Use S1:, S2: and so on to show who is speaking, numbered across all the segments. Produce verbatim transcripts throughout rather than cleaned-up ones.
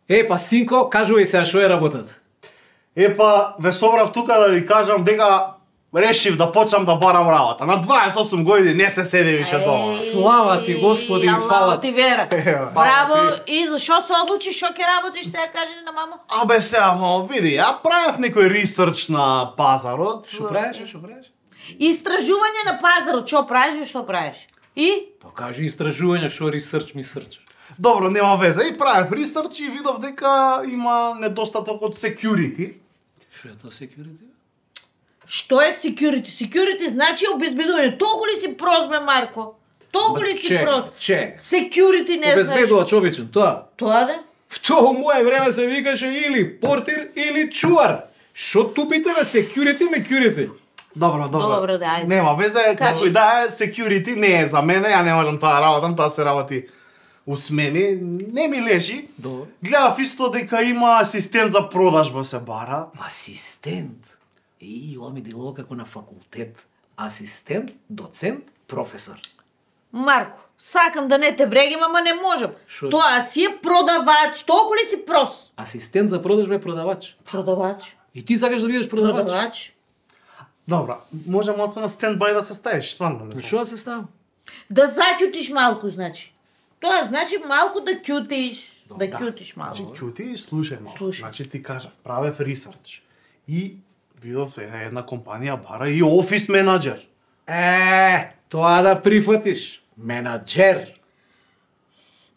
S1: Е, па синко, кажувај сега што е работата.
S2: Епа, ве собрав тука да ви кажам дека решив да почнам да барам работа. На дваесет и осум години не се седи више дома.
S1: Слава ти, Господи, и фала
S3: ти
S1: ти.
S3: вера.
S2: Ева,
S3: Браво,
S2: фала
S3: и зашо се одлучиш, шо ќе работиш сега, кажи на мамо?
S2: Абе сега, мамо, види, ја правев некој ресерч на пазарот.
S1: Што правиш, што правиш?
S3: Истражување на пазарот, што правиш и што правиш? И?
S1: Па кажи истражување, што ресерч ми срч.
S2: Добро, нема веза. И правев ресерч и видов дека има недостаток од security.
S1: Што е тоа security?
S3: Што е security? Security значи обезбедување. Толку ли си прост, бе, Марко? Толку ли си
S1: чек,
S3: прост?
S1: чек.
S3: Security не знаеш.
S1: Обезбедувач обичен, тоа.
S3: Тоа да?
S1: Тоа у моје време се викаше или портир или чувар. Што тупите бе security мекурити?
S2: Добро, добро.
S3: Добро, да, ајде.
S2: Нема веза,
S3: Кажи.
S2: како и да е, security не е за мене, ја не можам тоа да работам, тоа се работи у смени, не ми лежи.
S1: Добро.
S2: Гледав исто дека има асистент за продажба се бара.
S1: Асистент. И, ова ми делува како на факултет. Асистент, доцент, професор.
S3: Марко, сакам да не те врегим, ама не можам.
S1: Шо?
S3: Тоа си е продавач. Толку ли си прост?
S1: Асистент за продажба е продавач.
S3: Продавач.
S1: И ти сакаш да бидеш продавач?
S3: Продавач.
S2: Добра, може малце на стендбај да се ставиш, стварно не знам.
S1: Што да се ставам?
S3: Да закјутиш малку, значи. Тоа значи малку да кјутиш. Да кјутиш малку.
S2: Значи, кјути, слушај малку.
S3: Слушај.
S2: Значи ти кажав, правев ресерч. И видов е една компанија бара и офис менаџер.
S1: Е, тоа да прифатиш. Менаџер.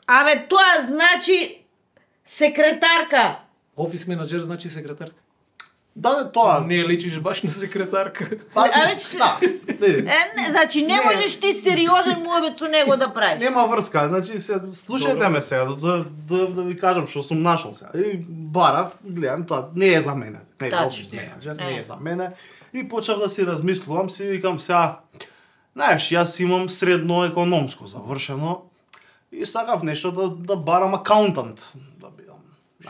S3: Абе, тоа значи секретарка.
S1: Офис менаџер значи секретарка.
S2: Да, да, тоа.
S1: Не личиш баш на секретарка.
S2: Па,
S3: Абе, че-
S2: да, види.
S3: Е, не, значи не,
S2: Не.
S3: можеш ти сериозен муабет со него да правиш.
S2: Нема врска, значи се слушајте
S1: Добро.
S2: ме сега, да, да, да ви кажам што сум нашол сега. И барав, гледам тоа, не е за мене. Не е
S3: Тачно.
S2: офис менаџер, не
S3: Е.
S2: е за мене. И почнав да си размислувам, си викам сега, знаеш, јас имам средно економско завршено и сакав нешто да, да барам акаунтант, да бидам.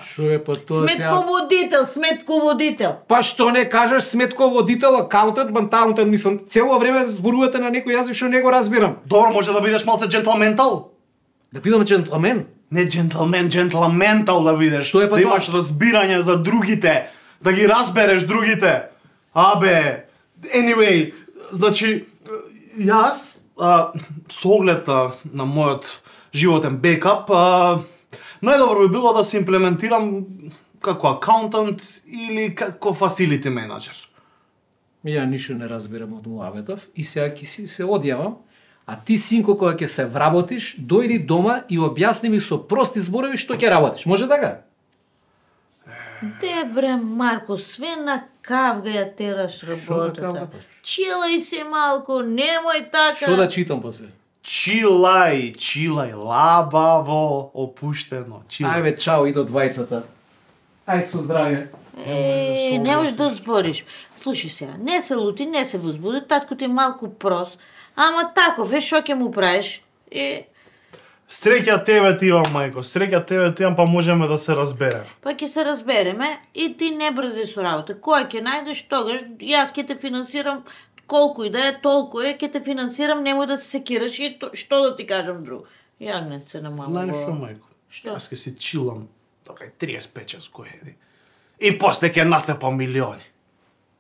S1: Што е па тоа сега?
S3: Сметководител, сметководител.
S1: Па што не кажеш сметководител, акаунтант, бантаунтант, мислам, цело време зборувате на некој јазик што не го разбирам.
S2: Добро, може да бидеш малце джентлментал?
S1: Да бидам джентлмен.
S2: Не джентлмен, джентлментал да бидеш.
S1: Што е па
S2: да
S1: тоа?
S2: имаш разбирање за другите, да ги разбереш другите. Абе, anyway, значи јас а, со оглед на, на мојот животен бекап, а, најдобро би било да се имплементирам како акаунтант или како facility менаџер.
S1: Ја ништо не разбирам од муабетов и сега ќе си се одјавам, а ти синко кога ќе се вработиш, дојди дома и објасни ми со прости зборови што ќе работиш. Може така?
S3: Де бре, Марко, све на кавга ја тераш
S1: на
S3: работата.
S1: кавга, па?
S3: Чилај се малку, немој така.
S1: Што да читам после?
S2: Чилај, чилај, лабаво, опуштено, чилај.
S1: Ајде, чао, и до двајцата. Ај со здравје.
S3: Е, не можеш да збориш. Слушай сега, не се лути, не се возбуди, татко ти е малку прост, ама таков е, шо ќе му правиш? И
S2: Среќа тебе ти имам, мајко, среќа тебе ти имам, па можеме да се разбереме.
S3: па ќе се разбереме и ти не брзај со работа. Кој ќе најдеш тогаш, јас ќе те финансирам колку и да е, толку е, ќе те финансирам, немој да се секираш и то, што да ти кажам друго. Јагнеце на мамо.
S2: Знаеш што, мајко?
S3: Што?
S2: Јас ке си чилам така триесет и пет години. И после ќе настапам милиони.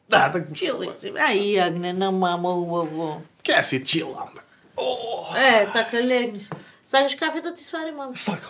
S2: Да, така.
S3: Чилај си, ај јагне на мамо убаво.
S2: Ке си чилам, бе. О,
S3: Е, така легни се. Сакаш кафе да ти свари, мамо?
S2: сакам.